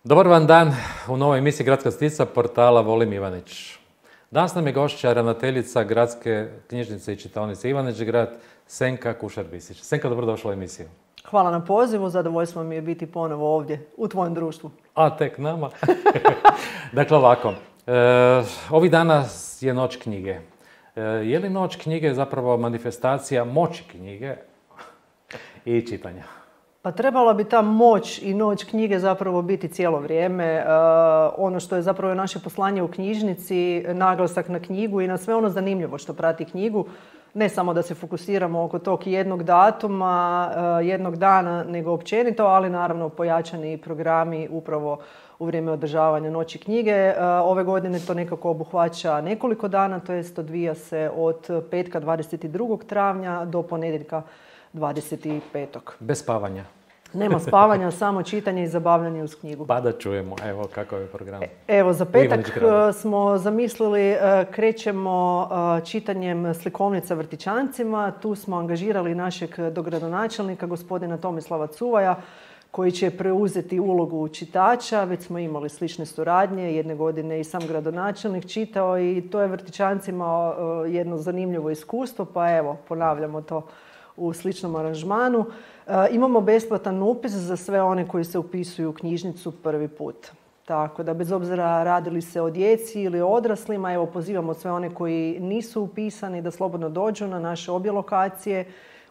Dobar vam dan u novoj emisiji Gradska stica portala Volim Ivanić. Danas nam je gošća ravnateljica Gradske knjižnice i čitaonice Ivanić Grad, Senka Kušar-Bisić. Senka, dobrodošla u emisiju. Hvala na pozivu, zadovoljstvo mi je biti ponovo ovdje, u tvojem društvu. A tek nama. Dakle, ovako, ovih dana je Noć knjige. Je li Noć knjige zapravo manifestacija moći knjige i čitanja? Pa trebala bi ta moć i noć knjige zapravo biti cijelo vrijeme. Ono što je zapravo naše poslanje u knjižnici, naglasak na knjigu i na sve ono zanimljivo što prati knjigu. Ne samo da se fokusiramo oko tog jednog datuma, jednog dana, nego općenito, ali naravno pojačani programi upravo u vrijeme održavanja Noći knjige. Ove godine to nekako obuhvaća nekoliko dana, to jest odvija se od petka 22. travnja do ponedjeljka 25. Bez spavanja. Nema spavanja, samo čitanje i zabavljanje uz knjigu. Pa da čujemo, evo kakav je program. Evo, za petak smo zamislili, krećemo čitanjem slikovnica vrtićancima. Tu smo angažirali našeg dogradonačelnika, gospodina Tomislava Cuvaja, koji će preuzeti ulogu čitača. Već smo imali slične suradnje, jedne godine i sam gradonačelnik čitao i to je vrtićancima jedno zanimljivo iskustvo, pa evo, ponavljamo to u sličnom aranžmanu. Imamo besplatan upis za sve one koji se upisuju u knjižnicu prvi put. Tako da bez obzira radili se o djeci ili o odraslima, evo pozivamo sve one koji nisu upisani da slobodno dođu na naše obje lokacije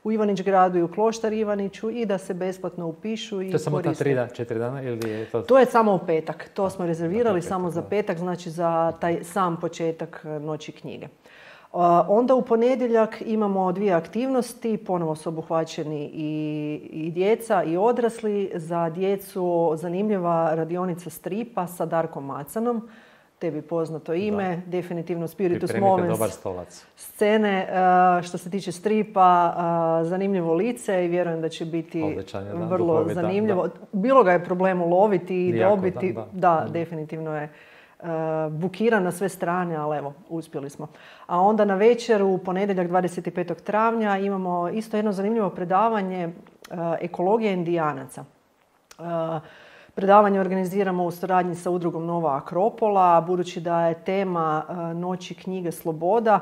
u Ivanić Gradu i u Kloštar Ivaniću i da se besplatno upišu i koriste. To je samo ta 4 dana ili je to? To je samo u petak. To smo rezervirali samo za petak, znači za taj sam početak Noći knjige. Onda u ponedjeljak imamo 2 aktivnosti, ponovo su obuhvaćeni i djeca i odrasli. Za djecu zanimljiva radionica stripa sa Darkom Macanom, tebi poznato ime, da. Definitivno Spiritus Movens dobar stolac. Scene. Što se tiče stripa, zanimljivo lice i vjerujem da će biti vrlo zanimljivo. Da. Bilo ga je problem uloviti i dobiti. Da, definitivno je bukiran na sve strane, ali evo, uspjeli smo. A onda na večer, u ponedjeljak 25. travnja, imamo isto jedno zanimljivo predavanje ekologije indijanaca. Predavanje organiziramo u suradnji sa udrugom Nova Akropola, budući da je tema Noći knjige sloboda,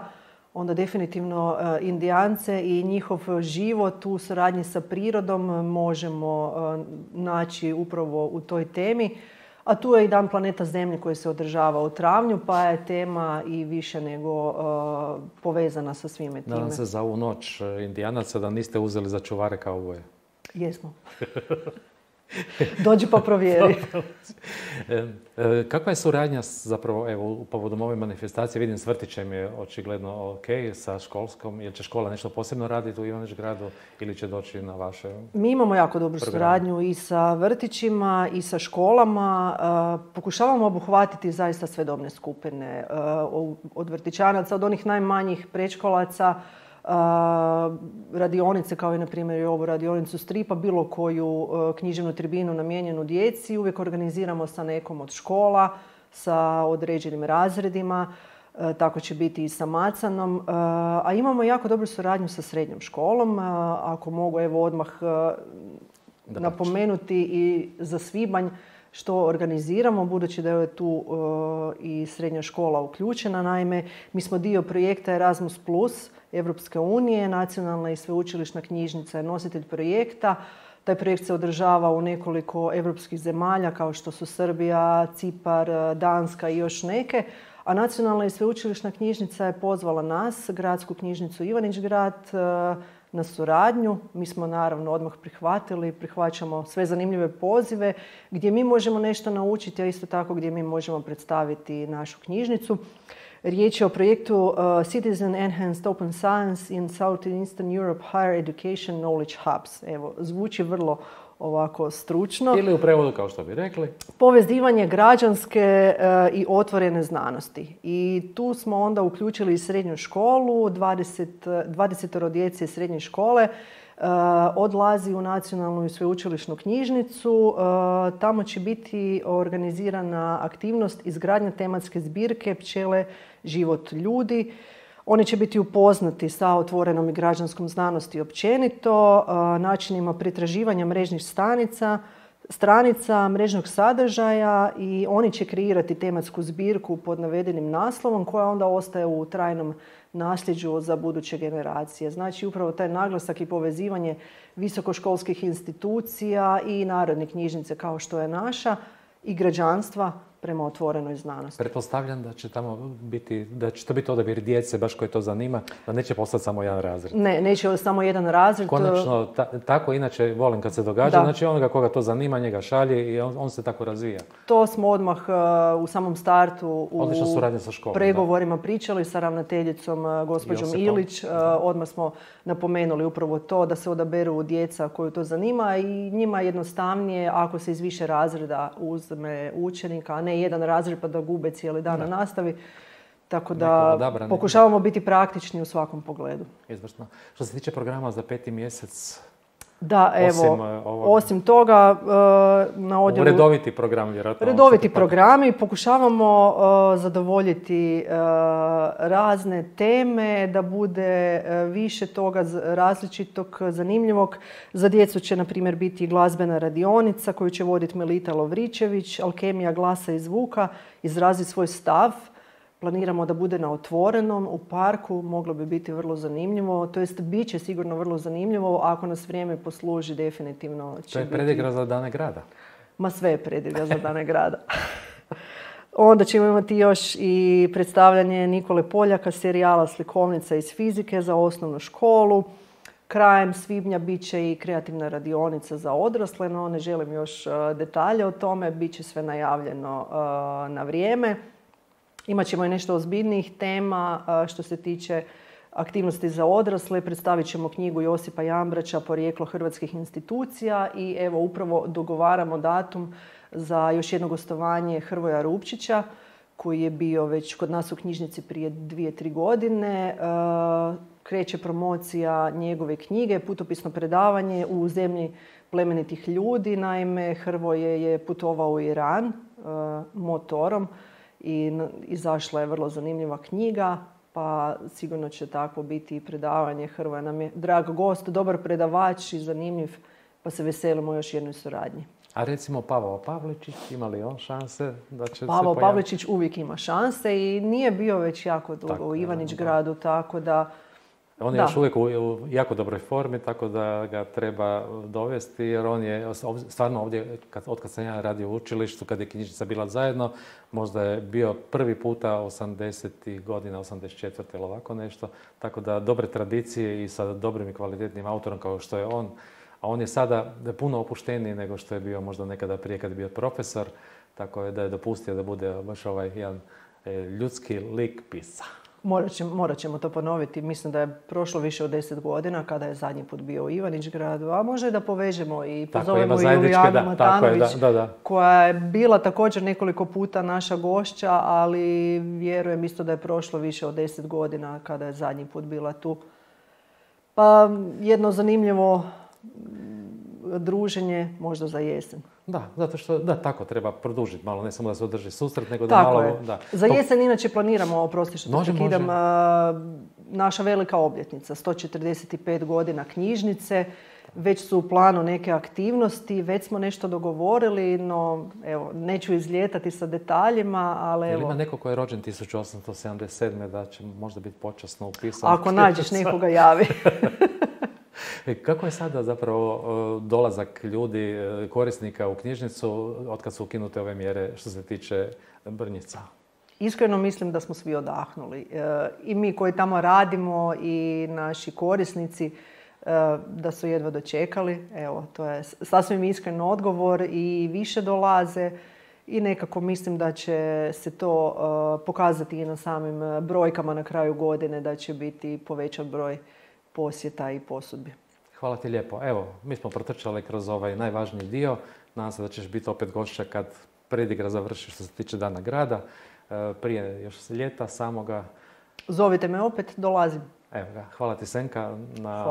onda definitivno Indijance i njihov život u suradnji sa prirodom možemo naći upravo u toj temi. A tu je i Dan planeta Zemlje koji se održava u travnju, pa je tema i više nego povezana sa svime time. Nadam se za ovu noć Indijanaca da niste uzeli za čuvare kauboje. Jesmo. Dođi pa provjeri. Kakva je suradnja zapravo, evo, povodom ove manifestacije? Vidim, s vrtićem je očigledno ok, sa školskom. Jel će škola nešto posebno raditi u Ivanić Gradu ili će doći na vaše Mi imamo jako dobru suradnju i sa vrtićima i sa školama. Pokušavamo obuhvatiti zaista sve dobne skupine. Od vrtićanaca, od onih najmanjih predškolaca, radionice kao i na primjer i ovu radionicu stripa, bilo koju književnu tribinu namijenjenu djeci. Uvijek organiziramo sa nekom od škola, sa određenim razredima. Tako će biti i sa Macanom. A imamo jako dobru suradnju sa srednjom školom. Ako mogu evo odmah napomenuti i za svibanj što organiziramo, budući da je tu i srednja škola uključena. Naime, mi smo dio projekta Erasmus Plus Evropske unije, nacionalna i sveučilišna knjižnica je nositelj projekta. Taj projekt se održava u nekoliko europskih zemalja kao što su Srbija, Cipar, Danska i još neke. A nacionalna i sveučilišna knjižnica je pozvala nas, Gradsku knjižnicu Ivanić Grad, na suradnju. Mi smo naravno odmah prihvatili, prihvaćamo sve zanimljive pozive gdje mi možemo nešto naučiti, a isto tako gdje mi možemo predstaviti našu knjižnicu. Riječ je o projektu Citizen Enhanced Open Science in Southeastern Europe Higher Education Knowledge Hubs. Evo, zvuči vrlo ovako stručno. Ili u prevodu, kao što bi rekli. Povezivanje građanske i otvorene znanosti. I tu smo onda uključili i srednju školu, 20 djece iz srednje škole odlazi u nacionalnu i sveučilišnu knjižnicu. Tamo će biti organizirana aktivnost izgradnja tematske zbirke Pčele, život ljudi. Oni će biti upoznati sa otvorenom i građanskom znanosti općenito, načinima pretraživanja mrežnih stranica, mrežnog sadržaja i oni će kreirati tematsku zbirku pod navedenim naslovom koja onda ostaje u trajnom nasljeđu za buduće generacije. Znači upravo taj naglasak i povezivanje visokoškolskih institucija i narodne knjižnice kao što je naša i građanstva prema otvorenoj znanosti. Pretpostavljam da će tamo biti, da će to biti odabir djece baš koje to zanima, da neće postati samo jedan razred. Ne, neće samo jedan razred. Konačno, tako inače volim kad se događa, znači onoga koga to zanima, njega šalje i on se tako razvija. To smo odmah u samom startu u pregovorima pričali sa ravnateljicom gospođom Ilić. Odmah smo napomenuli upravo to da se odaberu djeca koju to zanima i njima je jednostavnije ako se iz više razreda uzme učenika, a ne jedan razred pa da gube cijeli dan na nastavi. Tako da pokušavamo biti praktični u svakom pogledu. Izvrsno. Što se tiče programa za 5. mjesec, da, evo, osim toga na odjelu... Redoviti program, vjerojatno. Redoviti programi. Pokušavamo zadovoljiti razne teme, da bude više toga različitog, zanimljivog. Za djecu će, na primjer, biti glazbena radionica koju će voditi Melita Lovričević, alkemija glasa i zvuka, izraziti svoj stav. Planiramo da bude na otvorenom, u parku, moglo bi biti vrlo zanimljivo. To jest, bit će sigurno vrlo zanimljivo, ako nas vrijeme posluži, definitivno će biti... To je predigra za Dane grada. Ma sve je predigra za Dane grada. Onda ćemo imati još i predstavljanje Nikole Poljaka, serijala Slikovnica iz fizike za osnovnu školu. Krajem svibnja bit će i kreativna radionica za odrasle, no ne želim još detalje o tome, bit će sve najavljeno na vrijeme. Imat ćemo i nešto ozbiljnijih tema što se tiče aktivnosti za odrasle. Predstavit ćemo knjigu Josipa Jambraća Porijeklo hrvatskih institucija i evo upravo dogovaramo datum za još jedno gostovanje Hrvoja Rupčića koji je bio već kod nas u knjižnici prije 2-3 godine. Kreće promocija njegove knjige, putopisno predavanje u zemlji plemenitih ljudi. Naime, Hrvoje je putovao u Iran motorom i izašla je vrlo zanimljiva knjiga, pa sigurno će takvo biti i predavanje. Hrvoje nam je drag gost, dobar predavač i zanimljiv, pa se veselimo još jednoj suradnji. A recimo Pavao Pavličić, ima li on šanse da će se Pavao Pavličić uvijek ima šanse i nije bio već jako dugo u Ivanić gradu, tako da... On je još uvijek u jako dobroj formi, tako da ga treba dovesti, jer on je stvarno ovdje, otkad sam ja radio u učilištu, kad je knjižnica bila zajedno, možda je bio prvi puta 80. godina, 84. ili ovako nešto, tako da dobre tradicije i sa dobrim i kvalitetnim autorom kao što je on, a on je sada puno opušteniji nego što je bio možda nekada prije kad je bio profesor, tako da je dopustio da bude baš ovaj jedan ljudski lik pisa. Morat ćemo to ponoviti. Mislim da je prošlo više od 10 godina kada je zadnji put bio u Ivanić gradu, a može da povežemo i pozovemo i Julijanu Matanović, koja je bila također nekoliko puta naša gošća, ali vjerujem isto da je prošlo više od 10 godina kada je zadnji put bila tu. Pa jedno zanimljivo druženje možda za jesen. Da, zato što tako treba produžiti malo, ne samo da se održi susret, nego tako da malo... Je. Da. Za jesen inače planiramo, oprosti što te prekidam, naša velika obljetnica, 145 godina knjižnice, već su u planu neke aktivnosti, već smo nešto dogovorili, no evo, neću izlijetati sa detaljima, ali evo... Ima neko ko je rođen 1877. da će možda biti počasno upisan? Ako nađeš nekoga, javi. Kako je sada zapravo dolazak ljudi, korisnika u knjižnicu otkad su ukinute ove mjere što se tiče Brnjica? Iskreno mislim da smo svi odahnuli. I mi koji tamo radimo i naši korisnici da su jedva dočekali. Evo, to je sasvim iskren odgovor i više dolaze i nekako mislim da će se to pokazati i na samim brojkama na kraju godine, da će biti povećan broj posjeta i posudbi. Hvala ti lijepo. Evo, mi smo protrčali kroz ovaj najvažniji dio. Nadam se da ćeš biti opet gošća kad predigra završi što se tiče Dana grada. Prije još ljeta samoga. Zovite me opet, dolazim. Evo ga, hvala ti Senka na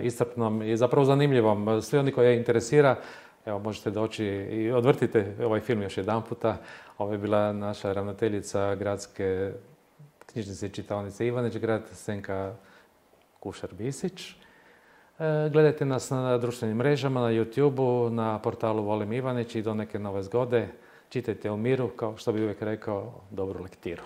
iscrpnom i zapravo zanimljivom. Svi oni koji je interesira, evo možete doći i odvrtite ovaj film još jedan puta. Ovo je bila naša ravnateljica gradske knjižnice i čitaonice Ivanić, grad Senka Kušar-Bisić. Gledajte nas na društvenim mrežama, na YouTube-u, na portalu Volim Ivanić i do neke nove zgode. Čitajte u miru, kao što bi uvijek rekao, dobru lektiru.